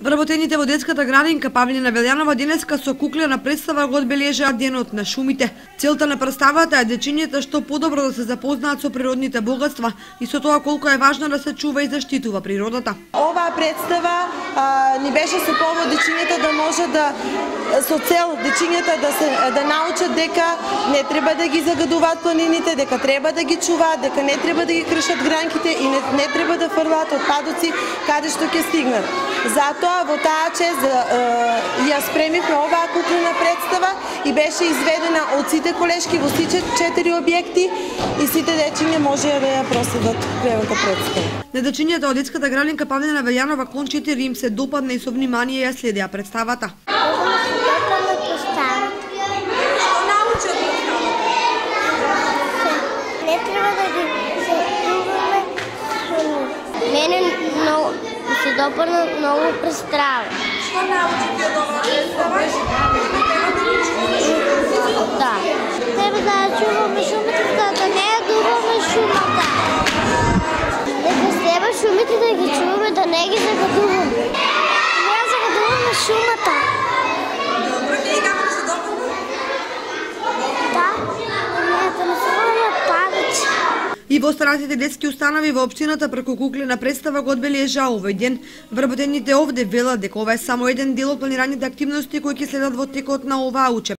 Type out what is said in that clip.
Вработените во детската градинка Павлина Велјанова денеска со куклена представа го одбележаат денот на шумите. Целта на представата е дечињата што подобро да се запознаат со природните богатства и со тоа колку е важно да се чува и заштитува природата. Оваа представа ни беше со повод дечињата да може да со цел дечињата да научат дека не треба да ги загадуваат планините, дека треба да ги чуваат, дека не треба да ги кршат гранките и не треба да фрлаат отпадоци каде што ќе стигнат. Затоа во таа чест ја спремивме оваа куклена представа и беше изведена од сите колешки во сите 4 објекти и сите дечиња можеа да ја проследат куклената представа. На дечињата од детската градинка Павлина Велјанова кон 4 им се допадна и со внимание ја следеа представата. Не треба да ги сетуваме шуми. Мене се допадна многу представа. Што научите од оваа представа? Да. Треба да чуваме шумите, да не ја дуваме шумата. Дека треба шумите да ги чуваме, да не ги загадуваме. Не ја загадуваме шумата. Добро, и како се допадна? Да, да не се падачи. И во останатите детски установи во општината преку куклена представа го одбележаа овој ден. Вработените овде велат дека ова е само еден дел од планираните активности кои ќе следат во текот на оваа учебна